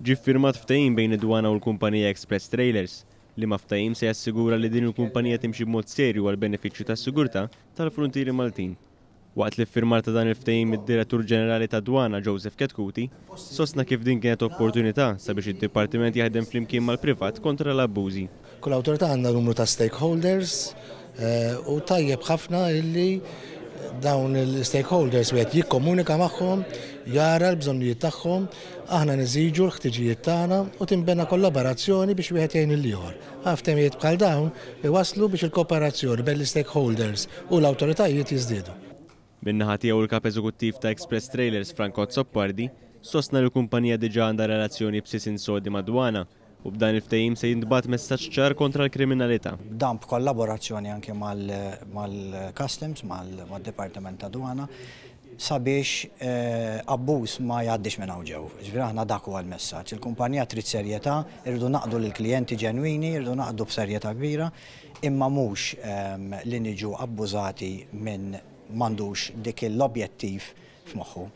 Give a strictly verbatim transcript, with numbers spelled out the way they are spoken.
Ġie ffirmat ftehim bejn id-Dwana u l-kumpanija Express Trailers, liema ftehim se jassigura li din il-kumpanija timxi b'mod serju għal benefiċċju tas-sigurtà tal-fruntieri Maltin. Waqt l-iffirmar ta' dan il-ftehim, id-Direttur Ġenerali tad-Dwana, Joseph Chetcuti, sostna kif din kienet opportunità sabiex id-dipartiment jaħdem flimkien mal-privat kontra l-abbużi. Kull awtorità għandha numru ta' stakeholders u tajjeb ħafna illi dawn il-stakeholders wieħed jikkomunika magħhom, jara l-bżonnijiet tagħhom, aħna neżiġu l-ħtiġijiet tagħna u tinbena kollaborazzjoni biex wieħed jgħin lill-ieħor. Ftehimiet bħal dawn iwaslu biex il-kooperazzjoni bejn l-stakeholders u l-awtoritajiet jiżdiedu. Min-naħa tiegħu, l-kap eżekuttiv ta' Express Trailers, Franco Azzopardi, sostna li l-kumpanija diġà għandha relazzjoni b'sisin sodi mad-dwana u b'dan il-ftehim se jintbagħat messaġġ ċar kontra l-kriminalità. Dan b'kollaborazzjoni anke mal-Customs, mal-Dipartiment ta' Dwana, sabiex abbuż ma jgħaddix minn hawn ġew. Ġifieri aħna dak huwa l-messaġġ. Il-kumpanija trid serjetà, irridu naqdu lill-klijenti ġenwini, irridu naqdu b'serjetà kbira, imma mhux li niġu abbużati minn m'għandux dik l-objettiv f'moħħu.